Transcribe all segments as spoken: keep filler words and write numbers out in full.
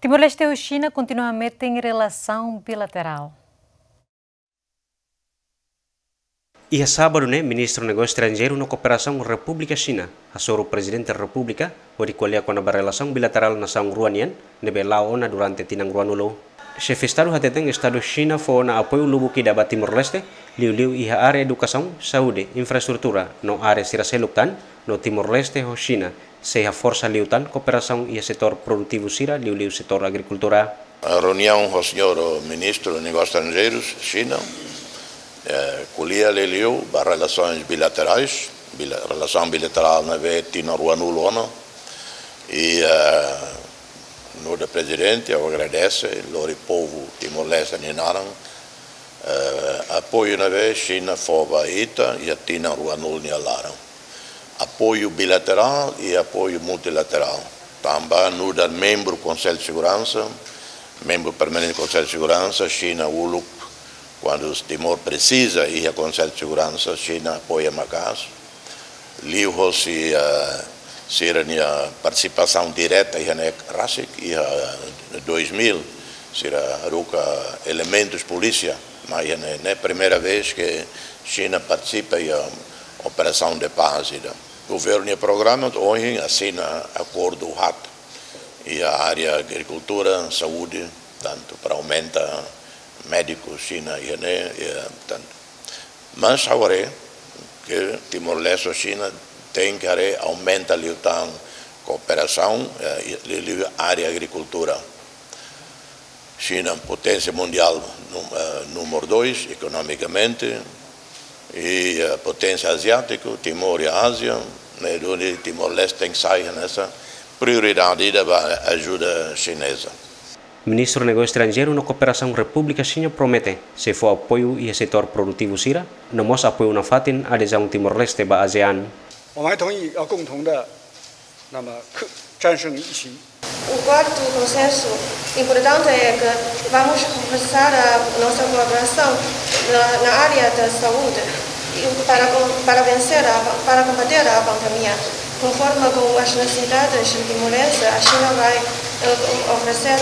Timor-Leste ho Xina kontinua metin relasaun bilaterál. Iha sábadu ne'e, Ministru Negósiu Estranjeiru no Kooperasaun Repúblika Xina hasoru Prezidente Repúblika hodi ko'alia kona-ba relasaun bilaterál nasaun rua nian ne'ebé la'o ona durante tinan ruanulu. Xefe Estadu hateten Estadu Xina fó ona apoiu lubuk ida ba Timor-Leste, liuliu iha área edukasaun, saúde, infraestrutura no área sira seluk tan, no Timor-Leste ho Xina sei haforsa liután kooperasaun iha setór produtivu sira, liuliu setór agrikultura. Reuniaun ho señór Ministru Negósius Estranjeirus Xina, eh, ko'alia liuliu ba relasaun bilaterál, bila-, relasaun bilaterál ne'ebé tinan ruanulu ona, i, eh, nu'udar Prezidente, ha'u agradese, lori povu Timor-Leste nia naran, eh, apoiu ne'ebé Xina fó ba ita iha tinan ruanulu nia laran. Apoiu bilaterál i apoiu multilaterál. Tanba nu'udar membru Konsellu Seguransa, membru permanente Konsellu Seguransa, Xina uluk, kuandu Timor presiza iha Konsellu Seguransa, Xina apoia maka'as. Liuhosi, eh, sira-nia partisipasaun direta iha ne'e rasik, iha dois mil, sira haruka elementus polísia, mas iha ne'e, ne'e primeira vez ke Xina partisipa iha operasaun de pás ida. Governu nia programa, ohin asina akordu haat iha área agrikultura, saúde, tantu para aumenta médiku Xina iha ne'e, iha, tantu. Mas agora ke Timor-Leste ho Xina tenke haree aumenta liután kooperasaun, eh, liuliu área agrikultura. Xina poténsia mundiál num-, eh, númeru dois ekonomikamente, i, eh, poténsia aziátiku, Timor iha Ázia, ne'e duni Timor-Leste tenke sai hanesan prioridade ida ba ajuda xineza. Ministru Negósiu Estranjeiru no Kooperasaun Repúblika Xina promete sei fó apoiu iha setór produtivu sira, no mós apoiu nafatin adezaun Timor-Leste ba ASEAN. 我们还同意要共同的，那么克-，战胜疫情。 O quarto consenso importante é que vamos reforçar a nossa colaboração na, na área da saúde e para com-, para vencer a, para combater a pandemia. Conforme com as necessidades de Timor-Leste, a China vai, eh, oferecer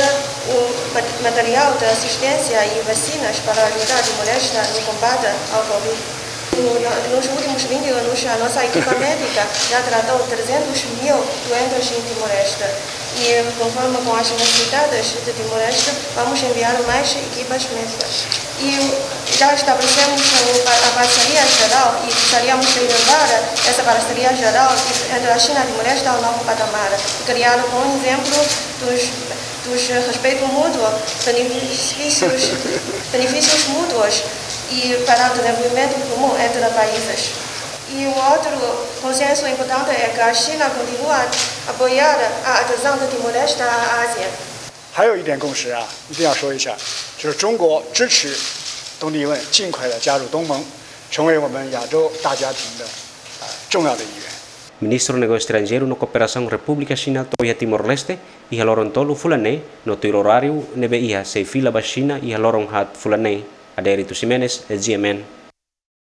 o mat-, material de assistência e vacinas para ajudar Timor-Leste no combate ao covid. No, no, nos últimos vinte anos, a nossa equipa médica já tratou trezentos mil doentes em Timor-Leste. E, conforme com as necessidades de Timor-Leste, vamos enviar mais equipas médicas. E já estabelecemos o pa-, a parceria geral e gostaríamos de elevar essa parceria geral entre a China e Timor-Leste ao novo patamar. Criar um bom exemplo dos, dos respeito mútuo, benefícios, benefícios mútuos e para o desenvolvimento comum entre países. E o outro consenso importante é que a China continua a apoiar a adesão de Timor-Leste à ASEAN. 还有一点共识啊，一定要说一下，就是中国支持东帝汶尽快地加入东盟，成为我们亚洲大家庭的，呃，重要的一员。 Ministru Negósiu Estranjeiru no Kooperasaun Repúblika Xina to'o iha Timor-Leste iha loron tolu fulan ne'e, no tuir oráriu ne'ebé iha sei fila ba Xina iha loron haat fulan ne'e. Adérito Ximenes, GMN.